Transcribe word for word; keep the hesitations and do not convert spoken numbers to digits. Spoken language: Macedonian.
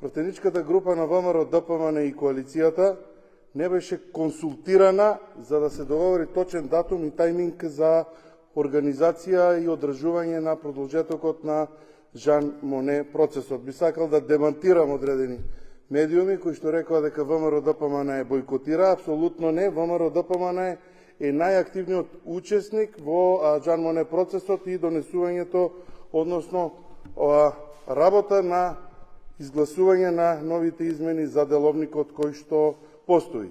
пратеничката група на ВМРО, ДПМН и коалицијата не беше консултирана за да се договори точен датум и тајминг за организација и одржување на продолжетокот на Жан Моне процесот. Би сакал да демантирам одредени медиуми кои што рекоа дека ВМРО ДПМН е бойкотира. Апсолутно не. ВМРО ДПМН е најактивниот учесник во Жан Моне процесот и донесувањето, односно работа на изгласување на новите измени за деловникот кој што постои.